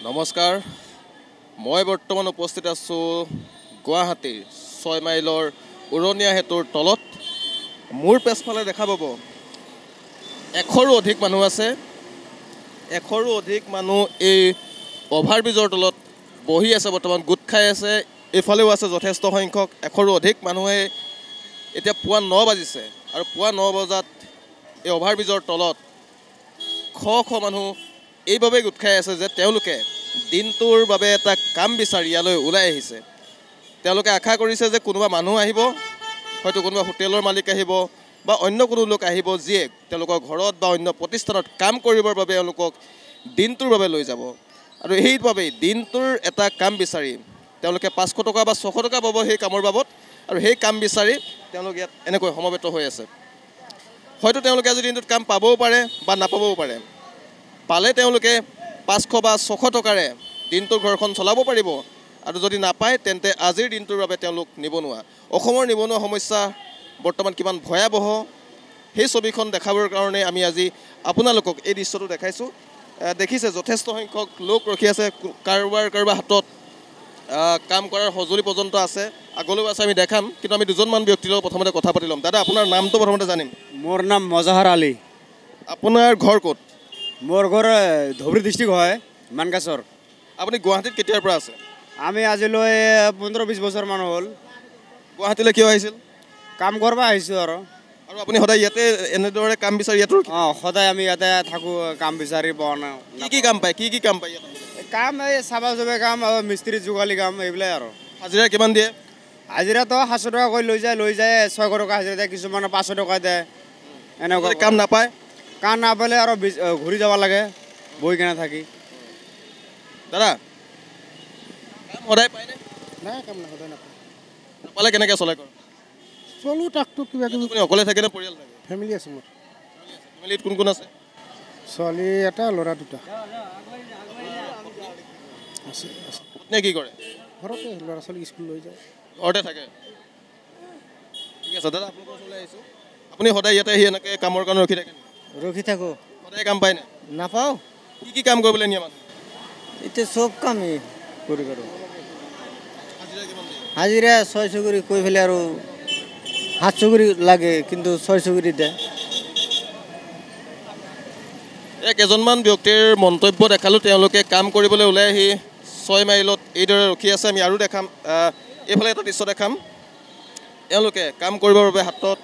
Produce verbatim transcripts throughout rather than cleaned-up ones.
নমস্কাৰ, মই বৰ্তমান উপস্থিত আছোঁ গুৱাহাটীৰ ছয় মাইলৰ উৰণীয়া সেতুৰ তলত। মোৰ পিছফালে দেখা পাব এশৰো অধিক মানুহ আছে। এশৰো অধিক মানুহ এই অভাৰব্ৰিজৰ তলত বহি আছে, বৰ্তমান গোট খাই আছে। এইফালেও আছে যথেষ্ট সংখ্যক, এশৰো অধিক মানুহে। এতিয়া পুৱা ন বাজিছে আৰু পুৱা ন বজাত এই অভাৰব্ৰিজৰ তলত শ শ মানুহ এইবাবেই গোট খাই আছে যে তেওঁলোকে দিনটোৰ বাবে এটা কাম বিচাৰি ইয়ালৈ ওলাই আহিছে। তেওঁলোকে আশা কৰিছে যে কোনোবা মানুহ আহিব, হয়তো কোনোবা হোটেলৰ মালিক আহিব বা অন্য কোনো লোক আহিব যিয়ে তেওঁলোকৰ ঘৰত বা অন্য প্ৰতিষ্ঠানত কাম কৰিবৰ বাবে এওঁলোকক দিনটোৰ বাবে লৈ যাব। আৰু সেইবাবেই দিনটোৰ এটা কাম বিচাৰি তেওঁলোকে পাঁচশ টকা বা ছশ টকা পাব সেই কামৰ বাবদ, আৰু সেই কাম বিচাৰি তেওঁলোক ইয়াত এনেকৈ সমবেত হৈ আছে। হয়তো তেওঁলোকে আজি দিনটোত কাম পাবও পাৰে বা নাপাবও পাৰে। পালে তেওঁলোকে পাঁচশ বা ছশ টকাৰে দিনটোৰ ঘৰখন চলাব পাৰিব, আৰু যদি নাপায় তেন্তে আজিৰ দিনটোৰ বাবে তেওঁলোক নিবনুৱা। অসমৰ নিবনুৱা সমস্যা বৰ্তমান কিমান ভয়াৱহ সেই ছবিখন দেখাবৰ কাৰণে আমি আজি আপোনালোকক এই দৃশ্যটো দেখাইছোঁ। দেখিছে যথেষ্ট সংখ্যক লোক ৰখি আছে, কাৰোবাৰ কাৰোবাৰ হাতত কাম কৰাৰ সঁজুলি পৰ্যন্ত আছে, আগলৈও আছে, আমি দেখাম। কিন্তু আমি দুজনমান ব্যক্তিৰ লগত প্ৰথমতে কথা পাতি ল'ম। দাদা, আপোনাৰ নামটো প্ৰথমতে জানিম। মোৰ নাম মজাহাৰ আলী। আপোনাৰ ঘৰ ক'ত? মোৰ ঘৰ ধুবুৰী ডিষ্ট্ৰিক্ট হয়, মানকাচৰ। আপুনি গুৱাহাটীত কেতিয়াৰ পৰা আছে? আমি আজিলৈ পোন্ধৰ বিছ বছৰমান হ'ল। গুৱাহাটীলৈ কিয় আহিছিল? কাম কৰিব আহিছোঁ। আৰু আৰু আপুনি সদায় ইয়াতে এনেদৰে কাম বিচাৰি ইয়াতো? অঁ, সদায় আমি ইয়াতে থাকোঁ, কাম বিচাৰি পোৱা নাই। কি কি কাম পায়? কি কি কাম পায় ইয়াতে? কাম এই চাবা জবে কাম, মিস্ত্ৰী যোগালী কাম, এইবিলাক। আৰু হাজিৰা কিমান দিয়ে? হাজিৰাটো সাতশ টকা কৰি লৈ যায়, লৈ যায় ছয়শ টকা হাজিৰা দিয়ে, কিছুমানে পাঁচশ টকা দিয়ে। এনেকুৱা কাম নাপায়? কাম নাপালে আৰু ঘূৰি যাব লাগে বহি কেনে থাকি। দাদা, কাম সদায় পায়নে? নাই, কাম নাই, সদায় নাপায়। নাপালে কেনেকৈ চলে ঘৰ? চলো তাকটো কিবা কিবি। আপুনি অকলে থাকে নে পৰিয়াল থাকে? ফেমিলি আছে মোৰ। ফেমিলিত কোন কোন আছে? ছোৱালী এটা, ল'ৰা দুটা আছে। পত্নীয়ে কি কৰে? ঘৰতে, ল'ৰা ছোৱালীক স্কুল লৈ যায়। ঘৰতে থাকে। ঠিক আছে দাদা, আপোনালোকৰ ওচৰলৈ আহিছোঁ। আপুনি সদায় ইয়াতে আহি এনেকৈ কামৰ কাৰণে ৰখি থাকে? ৰখি থাকোঁ। সদায় কাম পায়নে? নাপাওঁ। কি কি কাম কৰিবলৈ নিয়ে মানুহ? এতিয়া চব কামেই কৰি কৰোঁ। হাজিৰা ছয়শ কৰি কৈ পেলাই আৰু সাতশ কৰি লাগে, কিন্তু ছয়শ কৰি দিয়ে। এই কেইজনমান ব্যক্তিৰ মন্তব্য দেখালোঁ, তেওঁলোকে কাম কৰিবলৈ ওলাই আহি ছয় মাইলত এইদৰে ৰখি আছে। আমি আৰু দেখাম, এইফালে এটা দৃশ্য দেখাম। এওঁলোকে কাম কৰিবৰ বাবে হাতত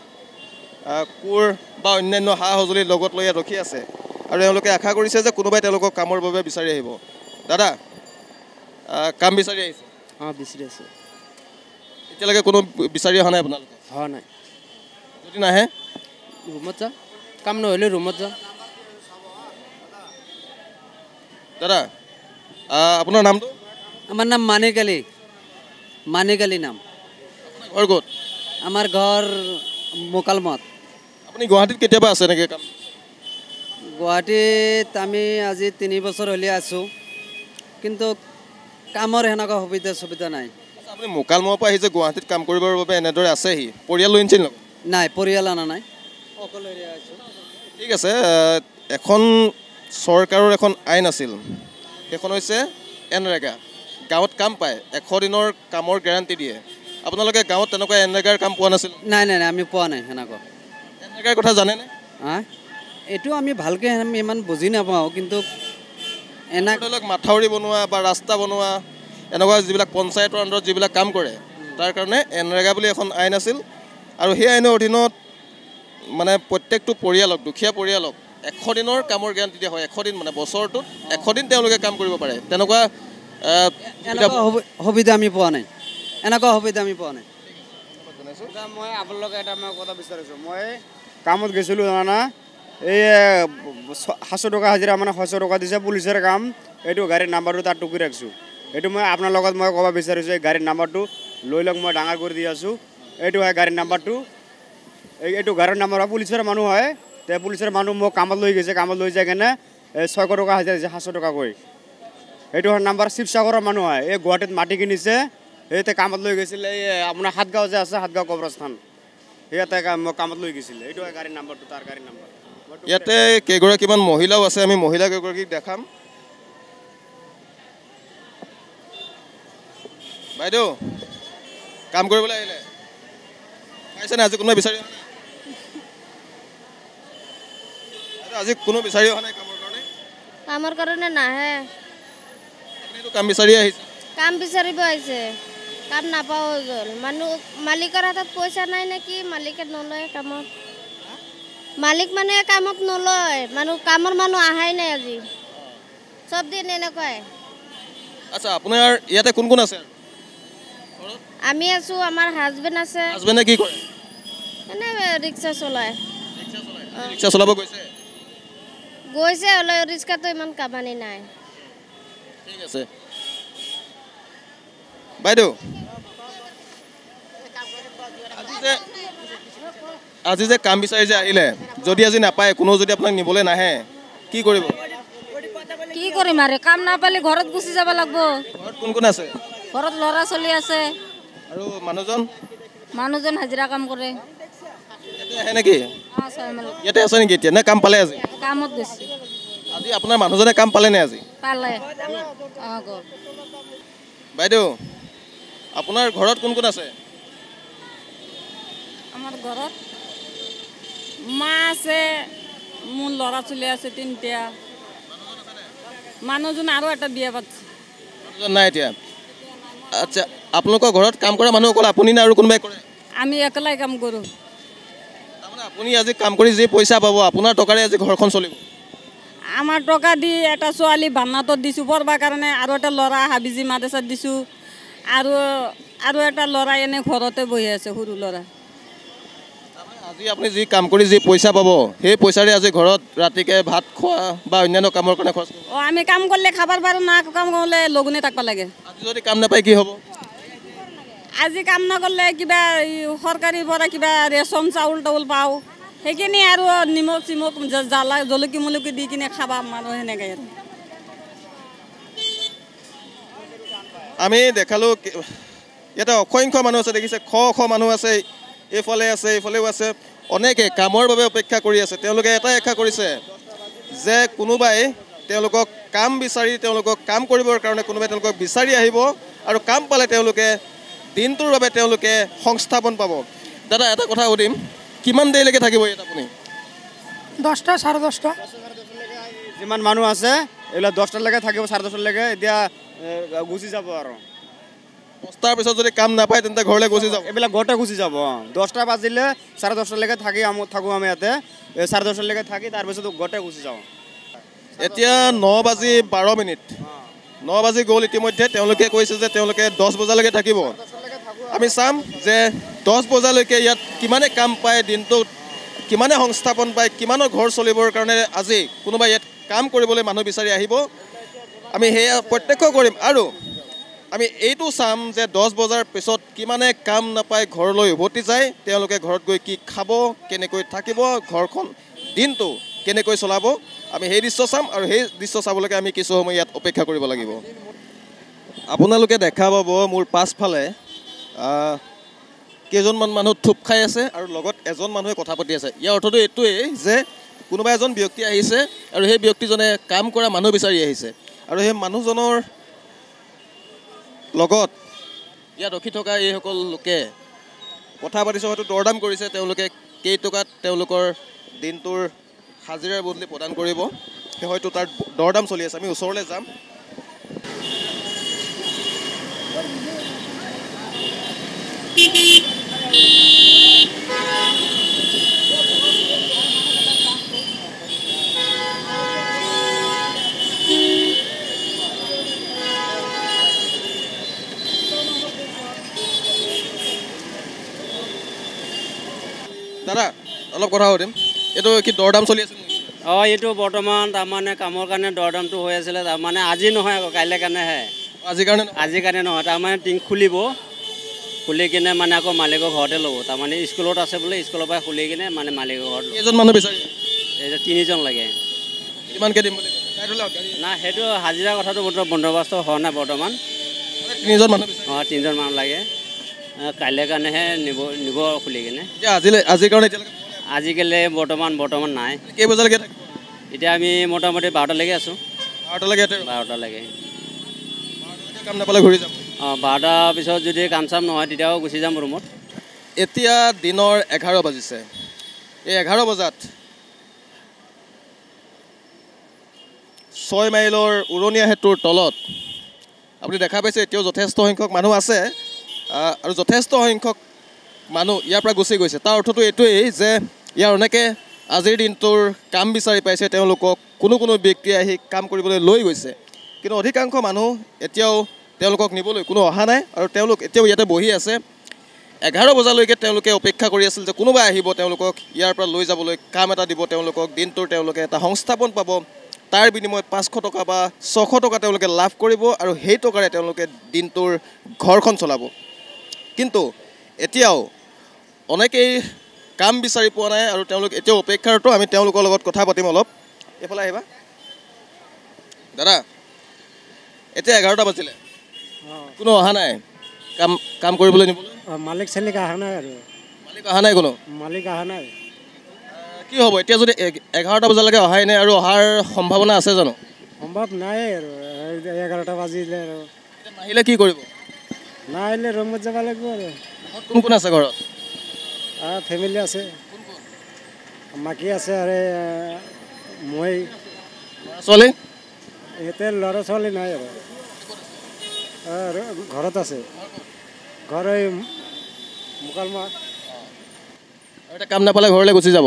কোৰ বা অন্যান্য সা সঁজুলি লগত লৈ ইয়াত ৰখি আছে, আৰু এওঁলোকে আশা কৰিছে যে কোনোবাই তেওঁলোকক কামৰ বাবে বিচাৰি আহিব। দাদা, কাম বিচাৰি আহিছে? অঁ, বিচাৰি আছোঁ। এতিয়ালৈকে কোনো বিচাৰি অহা নাই আপোনালোকে? হোৱা নাই। যদি নাহে? ৰুমত যাম, কাম নহ'লে ৰুমত যাম। দাদা, আপোনাৰ নামটো? আমাৰ নাম মানিক আলী। মানিক আলী নাম। আপোনাৰ ঘৰ ক'ত? আমাৰ ঘৰ মোকালমত। আপুনি গুৱাহাটীত কেতিয়াবা আছে নেকি কাম? গুৱাহাটীত আমি আজি তিনি বছৰ হ'লে আছোঁ, কিন্তু কামৰ সেনেকুৱা সুবিধা সুবিধা নাই। আপুনি মোকালমৰ পৰা আহিছে গুৱাহাটীত কাম কৰিবৰ বাবে এনেদৰে আছেহি, পৰিয়াল লৈ আনিছিল নেকি? নাই, পৰিয়াল অনা নাই, অকলশৰীয়া আছোঁ। ঠিক আছে। এখন চৰকাৰৰ এখন আইন আছিল, সেইখন হৈছে এনৰেগা। গাঁৱত কাম পায়, এশ দিনৰ কামৰ গেৰাণ্টি দিয়ে। আপোনালোকে গাঁৱত তেনেকুৱা এনৰেগাৰ কাম পোৱা নাছিল? নাই নাই নাই, আমি পোৱা নাই সেনেকুৱা। এনৰেগাৰ কথা জানেনে? হা, এইটো আমি ভালকৈ আমি ইমান বুজি নাপাওঁ, কিন্তু এনে ধৰি লওক মাথাউৰি বনোৱা বা ৰাস্তা বনোৱা এনেকুৱা যিবিলাক পঞ্চায়তৰ আণ্ডাৰত যিবিলাক কাম কৰে, তাৰ কাৰণে এনৰেগা বুলি এখন আইন আছিল। আৰু সেই আইনৰ অধীনত মানে প্ৰত্যেকটো পৰিয়ালক, দুখীয়া পৰিয়ালক এশ দিনৰ কামৰ গেৰাণ্টি দিয়া হয়। এশ দিন মানে বছৰটোত এশ দিন তেওঁলোকে কাম কৰিব পাৰে। তেনেকুৱা এনেকুৱা সুবিধা আমি পোৱা নাই, এনেকুৱা সুবিধা আমি পোৱা নাই। মই আপোনালোকে এটা মই কথা বিচাৰিছোঁ। মই কামত গৈছিলোঁ জানা, এই সাতশ টকা হাজিৰা মানে ছয়শ টকা দিছে, পুলিচৰ কাম। এইটো গাড়ীৰ নাম্বাৰটো তাত টুকি ৰাখিছোঁ। এইটো মই আপোনাৰ লগত মই ক'ব বিচাৰিছোঁ, এই গাড়ীৰ নাম্বাৰটো লৈ লওক, মই ডাঙৰ কৰি দি আছোঁ। এইটো হয় গাড়ীৰ নাম্বাৰটো, এই এইটো গাড়ীৰ নাম্বাৰ হয়। পুলিচৰ মানুহ হয়, তে পুলিচৰ মানুহ মোক কামত লৈ গৈছে। কামত লৈ যায় কেনে এই ছয়শ টকা হাজিৰা দিছে, সাতশ টকাকৈ। এইটো হয় নাম্বাৰ, শিৱসাগৰৰ মানুহ হয়, এই গুৱাহাটীত মাটি কিনিছে, এই কামত লৈ গৈছিলে। এই আপোনাৰ সাতগাঁও যে আছে, সাতগাঁও কবৰস্থান, ইয়াতে মোক কামত লৈ গৈছিলে। এইটো হয় গাড়ীৰ নাম্বাৰটো, তাৰ গাড়ীৰ নাম্বাৰ। ইয়াতে কেইগৰাকীমান মহিলাও আছে, আমি মহিলা কেইগৰাকীক দেখাম। বাইদেউ কাম কৰিবলৈ আহিলে পাইছেনে আজি কোনোবাই বিচাৰি অহা নাই? আজি কোনো বিচাৰি অহা নাই কামৰ কাৰণে? কামৰ কাৰণে নাহে। আপুনিতো কাম বিচাৰি আহিছে। কাম বিচাৰিব আহিছে, কাম নাপাওঁ হৈ গ'ল। মানুহ মালিকৰ হাতত পইচা নাই নেকি, মালিকে নলয় কামত। মালিক মানুহে কামত নলয়, মানুহ কামৰ মানুহ অহাই নাই আজি, চব দিন এনেকুৱাই। আচ্ছা, আপোনাৰ ইয়াতে কোন কোন আছে? আমি আছোঁ, আমাৰ হাজবেণ্ড আছে। হাজবেণ্ডে কি কৰে? এনে ৰিক্সা চলায়। ৰিক্সা চলাব গৈছে? গৈছে, হ'লেও ৰিক্সাটো ইমান কামানি নাই। ঠিক আছে বাইদেউ, আজি যে আজি যে কাম বিচাৰি যে আহিলে, যদি আজি নাপায়, কোনো যদি আপোনাক নিবলৈ নাহে, কি কৰিব? কি কৰিম আৰু, কাম নাপালে ঘৰত গুচি যাব লাগিব। ঘৰত কোন কোন আছে? ঘৰত ল'ৰা ছোৱালী আছে। আৰু মানুহজন? মানুহজন হাজিৰা কাম কৰে। ইয়াতে আহে নেকি? ইয়াতে আছে নেকি এতিয়া, নে কাম পালে আজি? কামত গৈছে। আজি আপোনাৰ মানুহজনে কাম পালে নে আজি? পালে। অঁ, গ'ল। বাইদেউ, আপোনাৰ ঘৰত কোন কোন আছে? আমাৰ ঘৰত মা আছে, মোৰ ল'ৰা ছোৱালী আছে তিনিটা। মানুহজন আৰু এটা বিয়া পাতিছে। মানুহজন নাই এতিয়া? আচ্ছা, আপোনালোকৰ ঘৰত কাম কৰা মানুহ অকল আপুনি নে আৰু কোনোবাই কৰে? আমি একলাই কাম কৰোঁ। তাৰমানে আপুনি আজি কাম কৰি যি পইচা পাব, আপোনাৰ টকাৰে আজি ঘৰখন চলিব? আমাৰ টকা দি এটা ছোৱালী বান্নাতত দিছোঁ পঢ়বাৰ কাৰণে, আৰু এটা ল'ৰা হাবিজি মাদ্ৰাছাত দিছোঁ, আৰু আৰু এটা ল'ৰা এনে ঘৰতে বহি আছে, সৰু ল'ৰা। আজি আপুনি যি কাম কৰি যি পইচা পাব, সেই পইচাৰে আজি ঘৰত ৰাতিকে ভাত খোৱা বা অন্যান্য কামৰ কাৰণে খৰচ কৰিব? অঁ, আমি কাম কৰিলে খাবাৰ পাৰোঁ, না কাম কৰিলে লঘোণে থাকিব লাগে। আজি যদি কাম নাপায় কি হ'ব? আজি কাম নকৰিলে কিবা চৰকাৰীৰ পৰা কিবা ৰেচন চাউল তাউল পাওঁ, সেইখিনি আৰু নিমখ চিমখ জ্বালা জলকী মলকি দি কিনে খাবা মানুহ সেনেকৈ। আৰু আমি দেখালোঁ ইয়াতে অসংখ্য মানুহ আছে, দেখিছে শ শ মানুহ আছে, এইফালে আছে, এইফালেও আছে। অনেকে কামৰ বাবে অপেক্ষা কৰি আছে। তেওঁলোকে এটাই আশা কৰিছে যে কোনোবাই তেওঁলোকক কাম বিচাৰি, তেওঁলোকক কাম কৰিবৰ কাৰণে কোনোবাই তেওঁলোকক বিচাৰি আহিব, আৰু কাম পালে তেওঁলোকে দিনটোৰ বাবে তেওঁলোকে সংস্থাপন পাব। দাদা, এটা কথা সুধিম, কিমান দেৰিলৈকে থাকিব ইয়াত আপুনি? দহটা, চাৰে দহটা। যিমান মানুহ আছে এইবিলাক দহটালৈকে থাকিব, চাৰে দহটালৈকে। এতিয়া গুচি যাব আৰু। দহটাৰ পিছত যদি কাম নাপায় তেন্তে ঘৰলৈ গুচি যাব? এইবিলাক ঘৰতে গুচি যাব। অঁ, দহটা বাজিলে চাৰে দহটালৈকে থাকি থাকোঁ আমি ইয়াতে, চাৰে দহটালৈকে থাকি তাৰপিছত ঘৰতে গুচি যাওঁ। এতিয়া ন বাজি বাৰ মিনিট, ন বাজি গ'ল ইতিমধ্যে। তেওঁলোকে কৈছে যে তেওঁলোকে দহ বজালৈকে থাকিব। আমি চাম যে দহ বজালৈকে ইয়াত কিমানে কাম পায়, দিনটোত কিমানে সংস্থাপন পায়, কিমানৰ ঘৰ চলিবৰ কাৰণে আজি কোনোবাই ইয়াত কাম কৰিবলৈ মানুহ বিচাৰি আহিব, আমি সেয়া প্ৰত্যক্ষ কৰিম। আৰু আমি এইটো চাম যে দহ বজাৰ পিছত কিমানে কাম নাপায় ঘৰলৈ উভতি যায়, তেওঁলোকে ঘৰত গৈ কি খাব, কেনেকৈ থাকিব, ঘৰখন দিনটো কেনেকৈ চলাব, আমি সেই দৃশ্য চাম। আৰু সেই দৃশ্য চাবলৈকে আমি কিছু সময় ইয়াত অপেক্ষা কৰিব লাগিব। আপোনালোকে দেখা পাব মোৰ পাছফালে কেইজনমান মানুহ থোপ খাই আছে আৰু লগত এজন মানুহে কথা পাতি আছে। ইয়াৰ অৰ্থটো এইটোৱেই যে কোনোবা এজন ব্যক্তি আহিছে আৰু সেই ব্যক্তিজনে কাম কৰা মানুহ বিচাৰি আহিছে, আৰু সেই মানুহজনৰ লগত ইয়াত ৰখি থকা এইসকল লোকে কথা পাতিছে, হয়তো দৰদাম কৰিছে তেওঁলোকে কেইটকাত তেওঁলোকৰ দিনটোৰ হাজিৰাৰ বদলি প্ৰদান কৰিব, সেই হয়তো তাৰ দৰদাম চলি আছে। আমি ওচৰলৈ যাম। দাদা, অলপ কথা সুধিম, এইটো কি দৰদাম চলি আছে? অঁ, এইটো বৰ্তমান তাৰমানে কামৰ কাৰণে দৰদামটো হৈ আছিলে, তাৰমানে আজি নহয় আকৌ কাইলৈ কাৰণেহে। আজিৰ কাৰণে? আজিৰ কাৰণে নহয়, তাৰমানে টিং খুলিব, খুলি কিনে মানে আকৌ মালিকৰ ঘৰতে ল'ব। তাৰমানে স্কুলত আছে বোলে, স্কুলৰ পৰা খুলি কিনে মানে মালিকৰ ঘৰত। কেইজন মানুহ বিচাৰি? এই তিনিজন লাগে। কিমানকৈ দিম বুলি? না, সেইটো হাজিৰা কথাটো বন্দোবস্ত হোৱা নাই বৰ্তমান। তিনিজন মানুহ? অঁ, তিনিজন মানুহ লাগে। কাইলৈ কাৰণেহে নিব নিব খুলি কিনে। এতিয়া আজিলৈ, আজিৰ কাৰণে এতিয়ালৈকে? আজিকালি বৰ্তমান বৰ্তমান নাই। কেই বজালৈকে থাকিব? এতিয়া আমি মোটামুটি বাৰটালৈকে আছোঁ। বাৰটালৈকে? বাৰটালৈকে। কাম নাপালে ঘূৰি যাব? অঁ, বাৰটাৰ পিছত যদি কাম চাম নহয় তেতিয়াও গুচি যাম ৰুমত। এতিয়া দিনৰ এঘাৰ বাজিছে। এই এঘাৰ বজাত ছয় মাইলৰ উৰণীয়া সেতুৰ তলত আপুনি দেখা পাইছে এতিয়াও যথেষ্ট সংখ্যক মানুহ আছে আৰু যথেষ্ট সংখ্যক মানুহ ইয়াৰ পৰা গুচি গৈছে। তাৰ অৰ্থটো এইটোৱেই যে ইয়াৰ অনেকে আজিৰ দিনটোৰ কাম বিচাৰি পাইছে, তেওঁলোকক কোনো কোনো ব্যক্তিয়ে আহি কাম কৰিবলৈ লৈ গৈছে, কিন্তু অধিকাংশ মানুহ এতিয়াও তেওঁলোকক নিবলৈ কোনো অহা নাই আৰু তেওঁলোক এতিয়াও ইয়াতে বহি আছে। এঘাৰ বজালৈকে তেওঁলোকে অপেক্ষা কৰি আছিল যে কোনোবা আহিব তেওঁলোকক ইয়াৰ পৰা লৈ যাবলৈ, কাম এটা দিব তেওঁলোকক, দিনটোৰ তেওঁলোকে এটা সংস্থাপন পাব, তাৰ বিনিময়ত পাঁচশ টকা বা ছশ টকা তেওঁলোকে লাভ কৰিব আৰু সেই টকাৰে তেওঁলোকে দিনটোৰ ঘৰখন চলাব। কিন্তু এতিয়াও অনেকেই কাম বিচাৰি পোৱা নাই আৰু তেওঁলোক এতিয়াও অপেক্ষাৰত। আমি তেওঁলোকৰ লগত কথা পাতিম অলপ। এইফালে আহিবা দাদা, এতিয়া এঘাৰটা বাজিলে, কোনো অহা নাই কাম কাম কৰিবলৈ নিবলৈ? মালিক চালিক অহা নাই আৰু। মালিক অহা নাই? কোনো মালিক অহা নাই। কি হ'ব এতিয়া যদি এঘাৰটা বজালৈকে অহাই নাই আৰু অহাৰ সম্ভাৱনা আছে জানো? সম্ভৱ নাই আৰু, এঘাৰটা বাজিলে আৰু। নাহিলে কি কৰিব? নাহিলে ৰুমত যাব লাগিব আৰু। কোন কোন আছে ঘৰত? ফেমিলি আছে, মাকী আছে আৰু মই। ছোৱালী? এতিয়া ল'ৰা ছোৱালী নাই আৰু, ঘৰত আছে। ঘৰ এই মোকালমা। আৰু এতিয়া কাম নাপালে ঘৰলৈ গুচি যাব।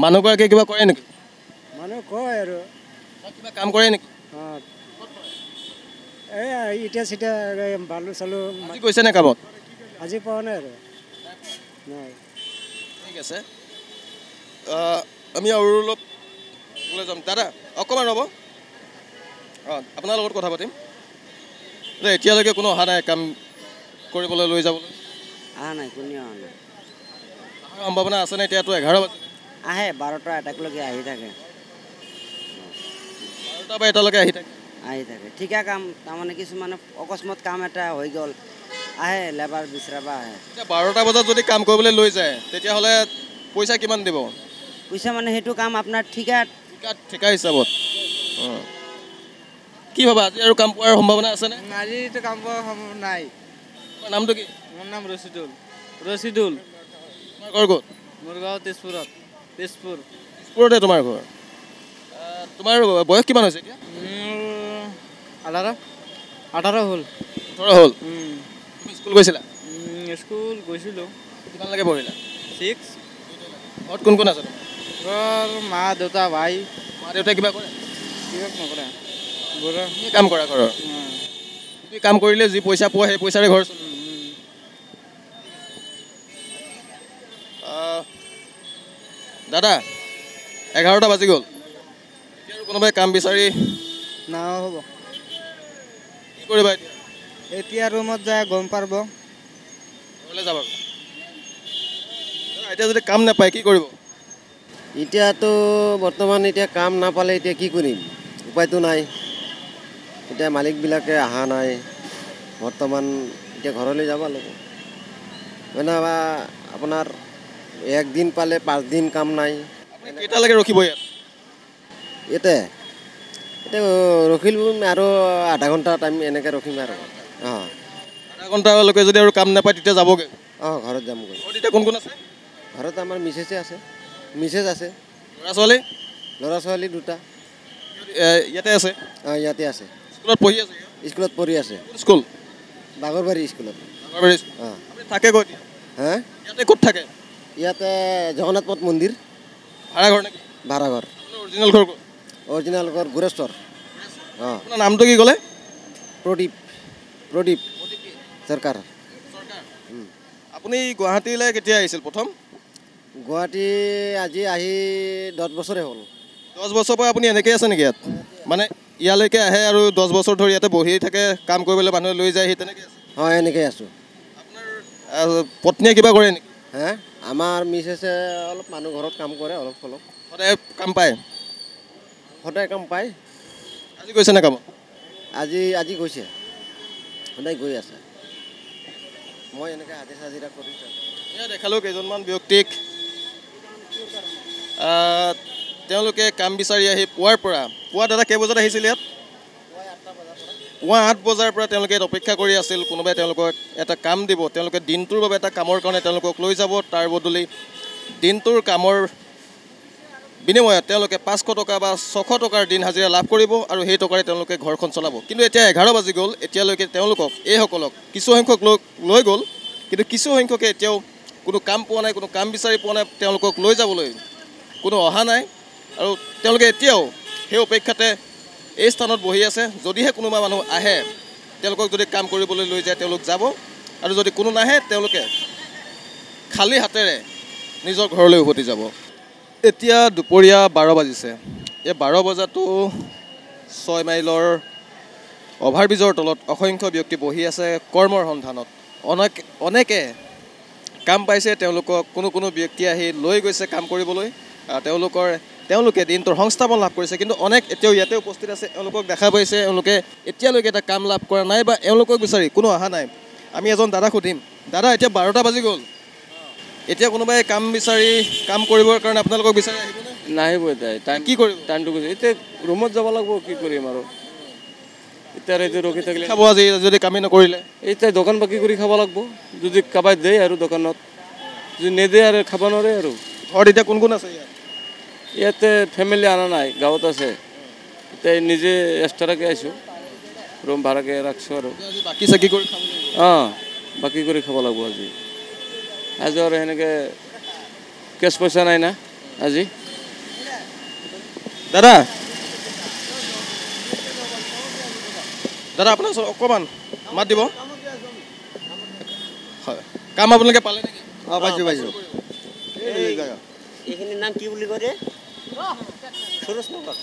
মানুহগৰাকীয়ে কিবা কৰে নেকি? মানুহ কয় আৰু। কিবা কাম কৰে নেকি? অঁ, এই ইটা চিটা বালু চালু। আজি গৈছে নে কামত? আজি পোৱা নাই আৰু। নাই। ঠিক আছে, আমি আৰু অলপ ওলাই যাম। দাদা অকণমান ৰ'ব, অঁ আপোনাৰ লগত কথা পাতিম। এতিয়ালৈকে কোনো অহা নাই কাম কৰিবলৈ লৈ যাবলৈ? অহা নাই, কোনেও অহা নাই। অহাৰ সম্ভাৱনা আছেনে? এতিয়াতো এঘাৰ বাজিলে। আহে, বাৰটা এটালৈকে আহি থাকে। বাৰটা বা এটালৈকে আহি থাকে? আহি থাকে। ঠিকা কাম, তাৰমানে কিছুমানে অকস্মাত কাম এটা হৈ গ'ল, আহে লেবাৰ বিচাৰিব আহে। এতিয়া বাৰটা বজাত যদি কাম কৰিবলৈ লৈ যায় তেতিয়াহ'লে পইচা কিমান দিব? পইচা মানে সেইটো কাম আপোনাৰ ঠিকা। ঠিকা ঠিকা হিচাপত। অঁ, কি ভাবা আজি আৰু কাম পোৱাৰ সম্ভাৱনা আছেনে? আজিতো কাম পোৱাৰ সম্ভাৱনা নাই। তোমাৰ নামটো কি? মোৰ নাম ৰচিদুল। ৰচিদুল। তোমাৰ ঘৰ ক'ত? মোৰ গাঁও তেজপুৰত। তেজপুৰ। তেজপুৰতে তোমাৰ ঘৰ? তোমাৰ বয়স কিমান হৈছে এতিয়া? মোৰ আঠাৰ আঠাৰ হ'ল। ওঠৰ হ'ল। তুমি স্কুল গৈছিলা? স্কুল গৈছিলোঁ। কিমানলৈকে পঢ়িলা? ছিক্স। ঘৰত কোন কোন আছে তোমাৰ? ঘৰ মা দেউতা ভাই। মা দেউতাই কিবা কৰে? কিবা নকৰে। বুঢ়া। তুমি কাম কৰা ঘৰৰ? তুমি কাম কৰিলে যি পইচা পোৱা সেই পইচাৰে ঘৰ চলে? দাদা এঘাৰটা বাজি গ'ল, এতিয়া আৰু কোনোবাই কাম বিচাৰি নহ'ব। কি কৰিবা এতিয়া? এতিয়া ৰুমত যায় গম পাৰব। ঘৰলৈ যাবা? এতিয়া যদি কাম নাপায় কি কৰিব? এতিয়াতো বৰ্তমান এতিয়া কাম নাপালে এতিয়া কি কৰিম, উপায়তো নাই। এতিয়া মালিকবিলাকে অহা নাই বৰ্তমান, এতিয়া ঘৰলৈ যাব লাগিব। মানে আপোনাৰ একদিন পালে পাঁচদিন কাম নাই। কেইটালৈকে ৰখিব ইয়াত? ইয়াতে এতিয়া ৰখিলোঁ আৰু আধা ঘণ্টা টাইম এনেকৈ ৰখিম আৰু। অঁ, আধা ঘণ্টালৈকে যদি আৰু কাম নাপায় তেতিয়া যাবগৈ? অঁ, ঘৰত যামগৈ। ঘৰত এতিয়া কোন কোন আছে? ঘৰত আমাৰ মিছেছে আছে, মিছেছ আছে। ল'ৰা ছোৱালী? ল'ৰা ছোৱালী দুটা। ইয়াতে আছে? অঁ, ইয়াতে আছে। স্কুলত পঢ়ি আছে? স্কুলত পঢ়ি আছে। কোন স্কুল? বাগৰবাৰী স্কুলত। বাগৰবাৰী স্কুল। অঁ। আপুনি থাকে ক'ত? হা? ইয়াতে ক'ত থাকে? ইয়াতে জগন্নাথ পথ মন্দিৰ। ভাড়াঘৰ নেকি? ভাড়াঘৰ। অৰিজিনেল ঘৰ ক'ত? অৰিজিনেল ঘৰ গোৰেশ্বৰ। অঁ। আপোনাৰ নামটো কি ক'লে? প্ৰদীপ। প্ৰদীপ চৰকাৰ। আপুনি গুৱাহাটীলৈ কেতিয়া আহিছিল প্ৰথম? গুৱাহাটী আজি আহি দহ বছৰে হ'ল। দহ বছৰৰ পৰা আপুনি এনেকেই আছে নেকি ইয়াত? মানে ইয়ালৈকে আহে আৰু দহ বছৰ ধৰি ইয়াতে বহি থাকে, কাম কৰিবলৈ মানুহে লৈ যায়, সেই তেনেকৈ আছে? হয়, এনেকেই আছোঁ। আপোনাৰ পত্নীয়ে কিবা কৰে নেকি? হে, আমাৰ মিছেছে অলপ মানুহ ঘৰত কাম কৰে অলপ অলপ। সদায় কাম পায়? সদায় কাম পায়। আজি গৈছে নে কামত? আজি আজি গৈছে, সদায় গৈ আছে। মই এনেকৈ হাজিৰা চাজিৰা কৰি থাকোঁ। এয়া দেখালোঁ কেইজনমান ব্যক্তিক, তেওঁলোকে কাম বিচাৰি আহি পুৱাৰ পৰা। পুৱা দাদা কেইবজাত আহিছিল ইয়াত? পুৱা আঠ বজাৰ পৰা তেওঁলোকে ইয়াত অপেক্ষা কৰি আছিল, কোনোবাই তেওঁলোকক এটা কাম দিব, তেওঁলোকে দিনটোৰ বাবে এটা কামৰ কাৰণে তেওঁলোকক লৈ যাব, তাৰ বদলি দিনটোৰ কামৰ বিনিময়ত তেওঁলোকে পাঁচশ টকা বা ছশ টকাৰ দিন হাজিৰা লাভ কৰিব আৰু সেই টকাৰে তেওঁলোকে ঘৰখন চলাব। কিন্তু এতিয়া এঘাৰ বাজি গ'ল, এতিয়ালৈকে তেওঁলোকক এইসকলক কিছুসংখ্যক লোক লৈ গ'ল, কিন্তু কিছুসংখ্যকে এতিয়াও কোনো কাম পোৱা নাই, কোনো কাম বিচাৰি পোৱা নাই, তেওঁলোকক লৈ যাবলৈ কোনো অহা নাই আৰু তেওঁলোকে এতিয়াও সেই অপেক্ষাতে এই স্থানত বহি আছে। যদিহে কোনোবা মানুহ আহে, তেওঁলোকক যদি কাম কৰিবলৈ লৈ যায় তেওঁলোক যাব, আৰু যদি কোনো নাহে তেওঁলোকে খালী হাতেৰে নিজৰ ঘৰলৈ উভতি যাব। এতিয়া দুপৰীয়া বাৰ বাজিছে। এই বাৰ বজাতো ছয় মাইলৰ অভাৰব্ৰিজৰ তলত অসংখ্য ব্যক্তি বহি আছে কৰ্মৰ সন্ধানত। অনেক অনেকে কাম পাইছে, তেওঁলোকক কোনো কোনো ব্যক্তি আহি লৈ গৈছে কাম কৰিবলৈ, তেওঁলোকৰ তেওঁলোকে দিনটোৰ সংস্থাপন লাভ কৰিছে। কিন্তু অনেক এতিয়াও ইয়াতে উপস্থিত আছে, এওঁলোকক দেখা পাইছে, এওঁলোকে এতিয়ালৈকে এটা কাম লাভ কৰা নাই বা এওঁলোকক বিচাৰি কোনো অহা নাই। আমি এজন দাদা সুধিম, দাদা এতিয়া বাৰটা বাজি গ'ল, এতিয়া কোনোবাই কাম বিচাৰি কাম কৰিবৰ কাৰণে আপোনালোকক বিচাৰি আহিবনে? নাহিব। এতিয়া টাইম কি কৰিব? টাইমটো গৈছে, এতিয়া ৰুমত যাব লাগিব, কি কৰিম আৰু এতিয়া এইটো ৰখি থাকিলে খাব আজি যদি কামেই নকৰিলে? এতিয়া দোকান বাকী কৰি খাব লাগিব, যদি কাৰোবাই দিয়ে আৰু দোকানত, যদি নিদিয়ে আৰু খাব নোৱাৰে আৰু। ঘৰত এতিয়া কোন কোন আছে ইয়াত? ইয়াতে ফেমিলি অনা নাই, গাঁৱত আছে। এতিয়া নিজে এক্সট্ৰাকৈ আহিছোঁ, ৰুম ভাড়াকৈ ৰাখিছোঁ আৰু। বাকী চাকি কৰি খাব লাগিব? অঁ, বাকী কৰি খাব লাগিব আজি। আজি আৰু সেনেকৈ কেছ পইচা নাই না আজি। দাদা দাদা আপোনাৰ ওচৰত অকণমান মাত দিব। হয়, কাম আপোনালোকে পালে নেকি? অঁ, পাইছোঁ পাইছোঁ। এইখিনিৰ নাম কি বুলি কয় ৰে? সুৰজনগৰ।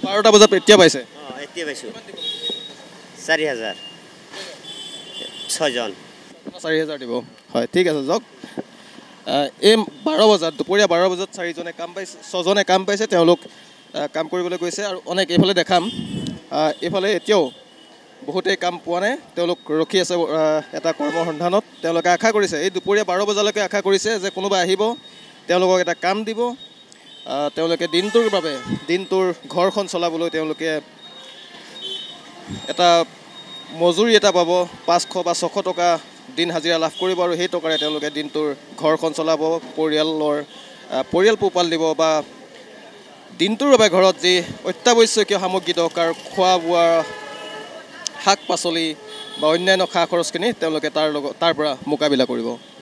বাৰটা বজাত এতিয়া পাইছে? অঁ, এতিয়া পাইছোঁ। চাৰি হাজাৰ ছয়জন। চাৰি হাজাৰ দিব। হয়, ঠিক আছে যাওক। এই বাৰ বজাত দুপৰীয়া বাৰ বজাত চাৰিজনে কাম পাইছে, ছজনে কাম পাইছে, তেওঁলোক কাম কৰিবলৈ গৈছে। আৰু অনেক এইফালে দেখাম, এইফালে এতিয়াও বহুতেই কাম পোৱা নাই, তেওঁলোক ৰখি আছে এটা কৰ্মৰ সন্ধানত। তেওঁলোকে আশা কৰিছে, এই দুপৰীয়া বাৰ বজালৈকে আশা কৰিছে যে কোনোবা আহিব, তেওঁলোকক এটা কাম দিব, তেওঁলোকে দিনটোৰ বাবে দিনটোৰ ঘৰখন চলাবলৈ তেওঁলোকে এটা মজুৰি এটা পাব, পাঁচশ বা ছশ টকা দিন হাজিৰা লাভ কৰিব আৰু সেই টকাৰে তেওঁলোকে দিনটোৰ ঘৰখন চলাব, পৰিয়ালৰ পৰিয়াল পোহপাল দিব বা দিনটোৰ বাবে ঘৰত যি অত্যাৱশ্যকীয় সামগ্ৰী দৰকাৰ, খোৱা বোৱা, শাক পাচলি বা অন্যান্য খা খৰচখিনি তেওঁলোকে তাৰ লগত তাৰ পৰা মোকাবিলা কৰিব।